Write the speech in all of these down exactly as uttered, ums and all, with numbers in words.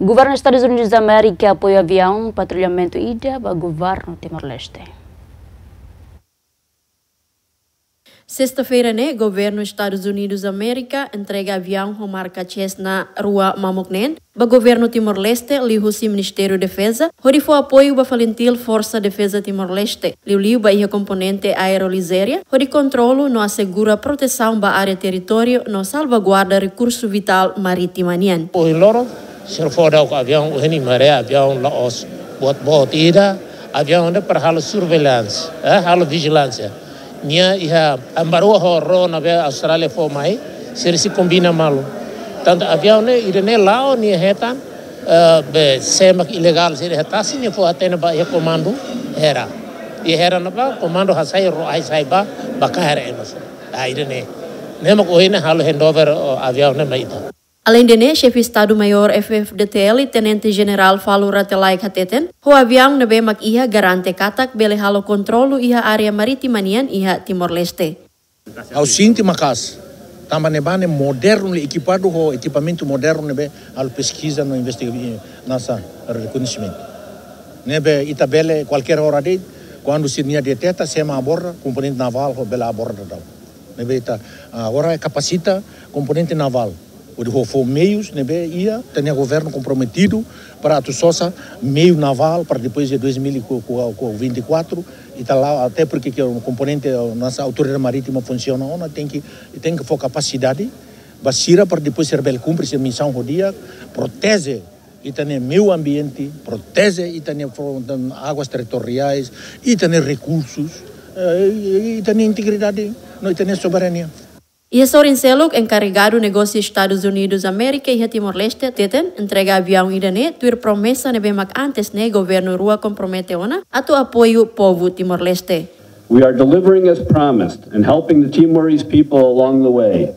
Governu Estadus Unidus Amérika apoia aviaun patrullamentu ida ba governu Timor-Leste. Sesta-feira ne'e, Governu Estadus Unidus Amérika entrega aviaun ho marka Cessna rua mamuk neen ba Governu Timor-Leste, liuhusi Ministériu Defeza, hodi fó apoiu ba FALINTIL, Forsa Defeza Timor-Leste, liuliu ba iha komponente aerolizeria, hodi kontrolu no asegura protesaun ba área territóriu no salvaguarda rekursu vitál marítima nian. Ohin loron, sira fó daudauk aviaun, ohin ne'e maré aviaun la'ós buat boot ida, aviaun ne'e para halo surveillance, eh, halo vijilánsia. Nia iha embargu ho ró ne'ebé Austrália fó mai, sira sei kombina malu. Tantu aviaun ne'e, ida-ne'e la'o nia hetan, eh, be sé mak ilegál sira iha tasi, nia fó hatene ba iha komandu hera. Iha hera ne'ebá, komandu hasai ró ai sai ba, ba kahera emas. Ah, ida-ne'e. Ne'e mak ohin ne'e halo handover, oh, aviaun ne'e mai ita. Aleinde ne'e, Xefe Estadu Maiór F-FDTL, Tenente Jenerál Falur Rate Laek hateten, ho aviaun ne'ebé mak iha garante katak bele halo kontrolu iha área marítima nian iha Timor-Leste. Ha'u sente maka'as. Tanba ne'ebá ne'e modernu, ekipadu ho ekipamentu modernu ne'ebé halo peskiza no investiga, eh, hanesan rekoñesimentu. Ne'ebé ita bele kualkér hora de'it, kuandu sira-nia deteta sé mak aborda, komponente navál ho bele aborda daudaun. Ne'ebé ita, ah, agora kapasita komponente navál. Hodi fó, fó meius ne'ebé iha, ita-nia governu komprometidu para atu sosa meiu navál para depois de dois mil e vinte e quatro, ita la'o, até porque ke komponente, eh, hanesan autoridade marítima funsiona ona, tenke, tenke fó kapasidade ba sira para depois sira bele kumpre sira misaun ho di'ak, proteje ita-nia meiu ambiente, proteje ita-nia fron-, águas territoriais, ita-nia rekursus, eh, ita-nia integridade, no ita-nia soberania. Iha sorin seluk, enkarregadu negósiu Estadus Unidus Amérika iha Timor-Leste hateten, entrega aviaun ida-ne'e tuir promesa ne'ebé mak antes ne'e governu rua kompromete ona atu apoiu povu Timor-Leste. We are delivering as promised and helping the Timorese people along the way.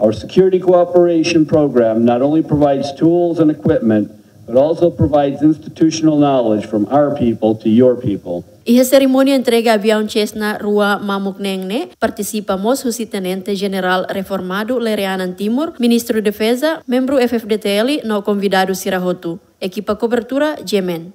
Our security cooperation program not only provides tools and equipment, but also provides institutional knowledge from our people to your people. Iha serimónia entrega aviaun Cessna rua mamuk neen ne'e, partisipa mós husi Tenente Jenerál reformadu Lere Anan Timur, Ministru Defeza, membru F-FDTL no konvidadu sira hotu. Ekipa kobertura, G M N.